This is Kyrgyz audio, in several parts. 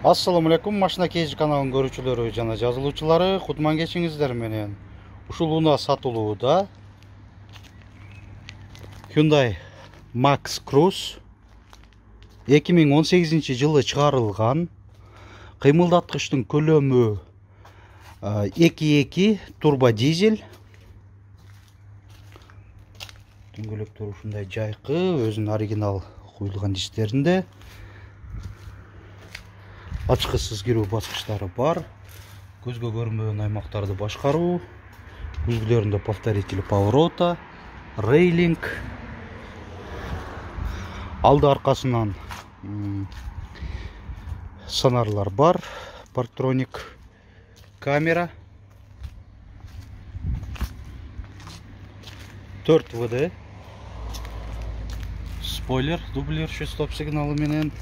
Assalamu alaikum, Машина Кейж каналынын көрүүчүлөрү жана жазылуучулары, кутман кечиңиздер менен. Ушул унаа сатылууда Hyundai Max Cruze 2018-жылы чыгарылган. Кыймылдаткычтын көлөмү 2.2 турбо дизель. Дөңгөлөктөр ушундай жайкы, өзүнүн оригинал куюлган диштеринде. Ачкысыз кирүү баскычтары бар. Көзгө көрүнбөгөн аймактарды башкаруу, үлгүлөрүндө повторитель поворота, рейлинг, алды аркасынан сонарлар бар, парктроник камера, 4 ВД, спойлер, дублирчү стоп сигналы менен.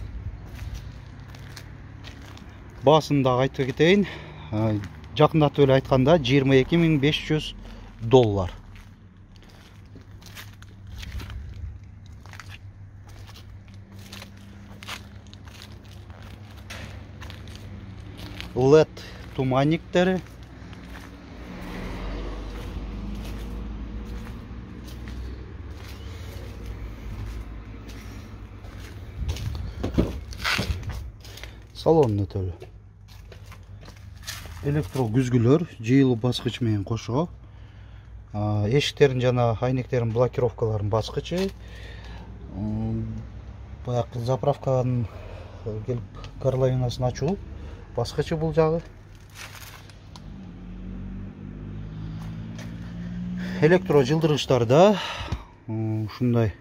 Баасын дагы айтып кетейин. Жакындатып эле айтканда $22.500. LED туманниктери. Салон өтөлү. Электро күзгүлөр, жыйылуу баскыч менен кошо. Эшиктерин жана айнектерин блокировкаларын баскычы. Баягы заправканын келип горловинасын ачуу баскычы бул жагы. Электро жылдыргычтарда ушундай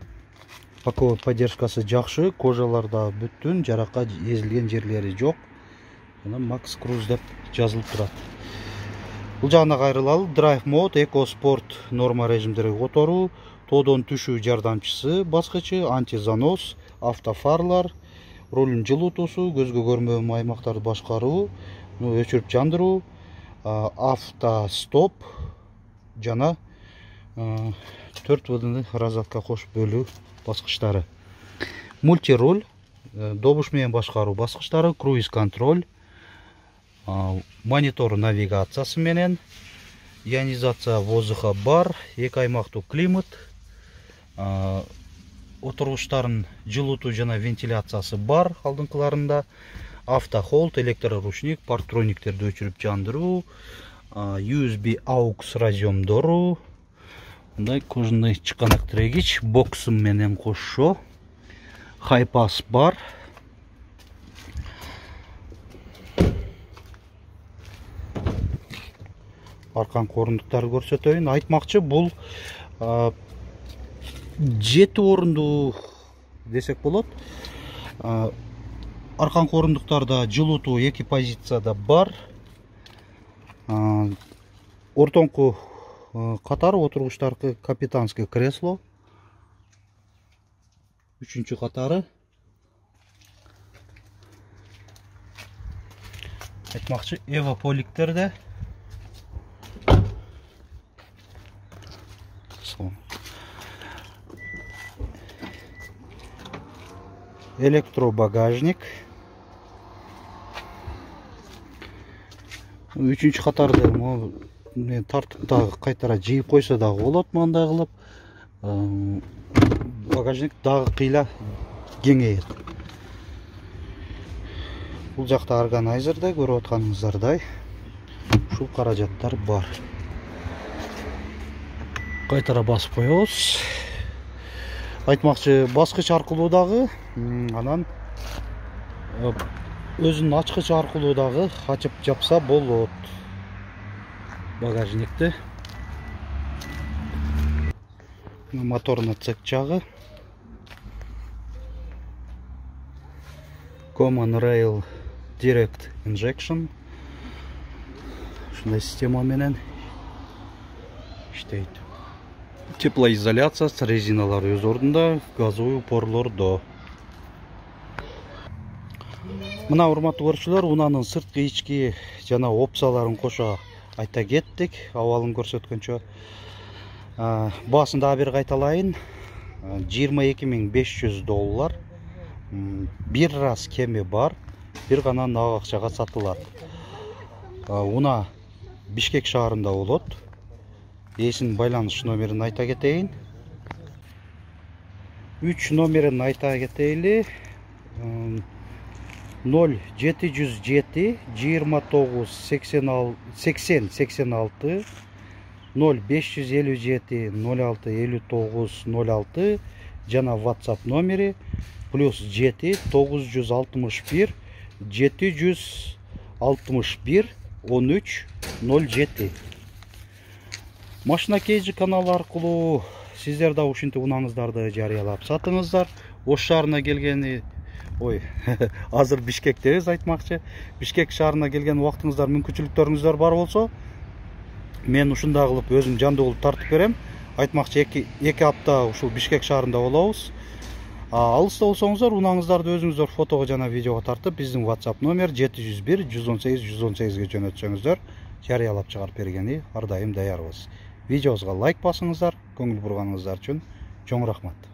паковый поддержкасы жакшы, кожаларда бүттүн, жаракка эзилген жерлери жок. Жана Max Cruze деп жазылып турат. Бул жагына кайрылалы. Drive Mode, Eco Sport норма режимдерге которуу, тоодон түшүү жардамчысы баскычы, антизанос, автофарлар, рулдун жылуутуусу, көзгө көрүнбөгөн аймактарды башкаруу, өчүрүп жандыруу, автостоп жана 4 ВД розетка кош бөлүү баскычтары. Мультируль, добуш менен башкаруу баскычтары, круиз контроль, монитор навигациясы менен, ионизация воздуха бар, 2 аймактуу климат, отургучтардын жылуутуу жана вентиляциясы бар алдыңкыларында, автохолд, электроручник, парктрониктерди өчүрүп жандыруу, USB AUX разъемдору, мындай кожаный чыканак тирегич, боксум менен кошо, хайпас бар. Арканкы орундуктарды көрсөтөйүн. Айтмакчы, бул 7 орундуу десек болот. Арканкы орундуктарда жылуутуу 2 позицияда бар. Ортоңку катар отургучтаркы капитанский кресло. 3-чү катары. Айтмакчы, эвополиктерде. Электробагажник. 3-чү катарды тартып дагы кайтара жыйып койсо дагы болот, мындай кылып. Багажник дагы кыйла кеңейет. Бул жакта органайзерде көрүп атканыңыздардай ушул каражаттар бар. Кайтара басып коебуз. Айтмакчы, баскыч аркылуу дагы, анан өзүнүн ачкычы аркылуу дагы ачып жапса болот багажникти. Моторный цек жагы. Common Rail Direct Injection. Ушундай система менен иштейт. Теплоизоляция, резиналар өз ордунда, газовый упорлордо. Мына урматтуу көрүүчүлөр, унаанын сырткы, ички жана опцияларын кошо айта кеттик. Абалын көрсөткөнчө баасын дагы бир кайталайын. $22.500. Bir раз кеми бар. бир гана нак акчага сатылат. Уна Бишкек шаарында болот. Ээсинин байланыш номерин айта кетейин. 3 номерин айта кетейли. 0707 29 80 86 0557 06 59 06 жана WhatsApp номери +7 961 761 13 07. Машина Кейджи каналы аркылуу сиздер да ушинтип унаңыздарды жарыялап сатыңыздар. Ош шаарына келгени азыр Бишкектебиз айтмакчы. Бишкек шаарына келген убактыңыздар, мүмкүнчүлүктөрүңүздөр бар болсо, мен ушундай кылып өзүм жандуу кылып тартып берем. Айтмакчы 2 апта ушул Бишкек шаарында болобуз. Алыста болсоңуздар, унаңыздарды өзүңүздөр фотого жана видеого тартып, биздин WhatsApp номер 701 118 118ге жөнөтсөңүздөр, жарыялап чыгарып бергени ар дайым даярбыз. Видеобузга лайк басыңыздар, көңүл бурганыңыздар үчүн чоң рахмат.